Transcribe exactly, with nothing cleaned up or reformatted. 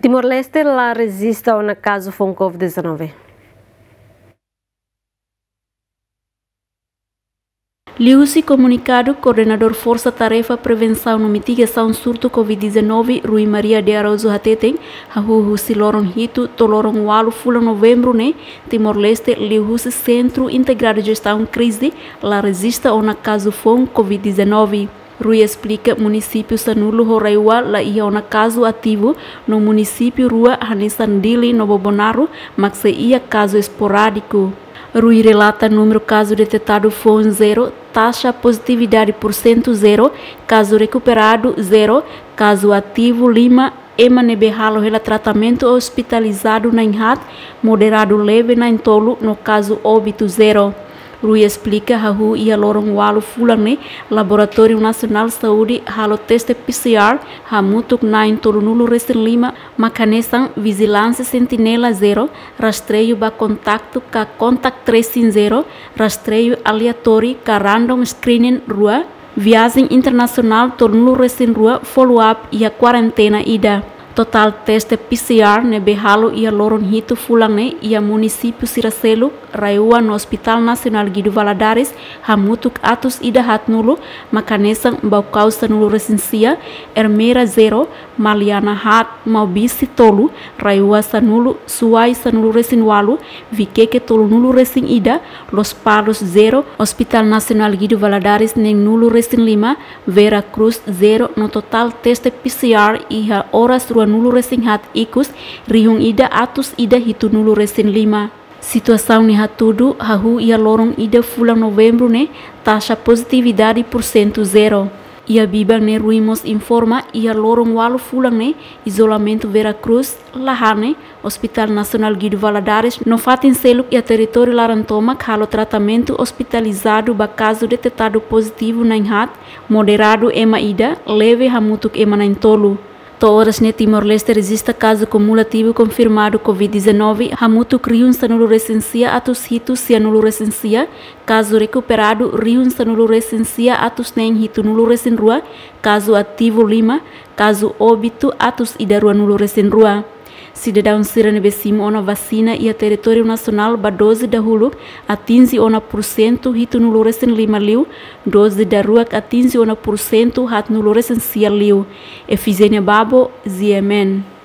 Timor-Leste la rejista ona kazu foun covid dezanove. Liuhusi komunikadu, Koordenadór Forsa Tarefa Prevensaun no Mitigasaun Surtu covid dezanove, Rui Maria de Araújo hateten, hahú husi loron hitu to'o loron ualu fulan Novembru ne'e, Timor-Leste liuhusi Sentru Integradu Jestaun Krize la rejista ona kazu foun covid dezanove. Rui esplika munisípiu sanulu ho RAEOA la iha ona kazu ativu, no munisípiu rua hanesan Dili no Bobonaro mak sei iha kazu esporádiku. Rui relata númeru kazu detetadu foun zero, taxa pozitividade porsentu zero, kazu rekuperadu zero, kazu ativu lima, ema ne'ebé halo hela tratamentu ospitalizadu na'in-haat, moderadu leve na'in-tolu no kazu óbitu zero. Rui esplika hahú iha loron ualu fulan ne'e, Laboratóriu Nasionál Saúde halo teste P C R hamutuk na'in-tolunulu resin lima, mak hanesan vijilánsia sentinela zero, rastreiu ba kontaktu ka contact tracing zero, rastreiu aleatóriu ka random screening rua, viajen internasionál tolunulu resin rua, follow-up iha kuarentena ida. Totál teste P C R ne'ebé halo iha loron hitu fulan ne'e iha munisípiu sira seluk, RAEOA no Hospital Nasionál Guido Valadares hamutuk atus ida haatnulu, mak hanesan Baucau sanulu resin sia, Ermera zero, Maliana haat, Maubisse tolu, RAEOA sanulu, Suai sanulu resin ualu, Viqueque tolunulu resin ida, Lospalos zero, Hospital Nasionál Guido Valadares neenulu resin lima, Vera Cruz zero, no totál teste P C R iha oras ruanulu resin haat ikus, rihun ida atus ida hitunulu resin lima. Situasaun ne'e hatudu hahú iha loron ida fulan Novembru ne'e, taxa pozitividade porsentu zero. Iha biban ne'e Rui mós informa, iha loron ualu fulan ne'e, izolamentu Vera Cruz la hane, Hospital Nasionál Guido Valadares no fatin seluk iha territóriu laran tomak halo tratamentu ospitalizadu ba kazu detetadu pozitivu na'in-haat, moderadu ema ida, leve hamutuk ema na'in-tolu. To'o oras ne'e Timor-Leste rejista kazu kumulativu konfirmadu covid dezanove hamutuk rihun sanulu resin sia atus hitu sianulu resin sia, kazu rekuperadu rihun sanulu resin sia atus neen hitunulu resin rua, kazu ativu lima, kazu óbitu atus ida ruanulu resin rua. Sidadaun sira ne'ebé simu ona vasina iha territóriu nasionál ba doze dahuluk atinje ona porsentu hitunulu resin lima liu, doze daruak atinje ona porsentu haatnulu resin sia liu. Efigénia Babo, G M N.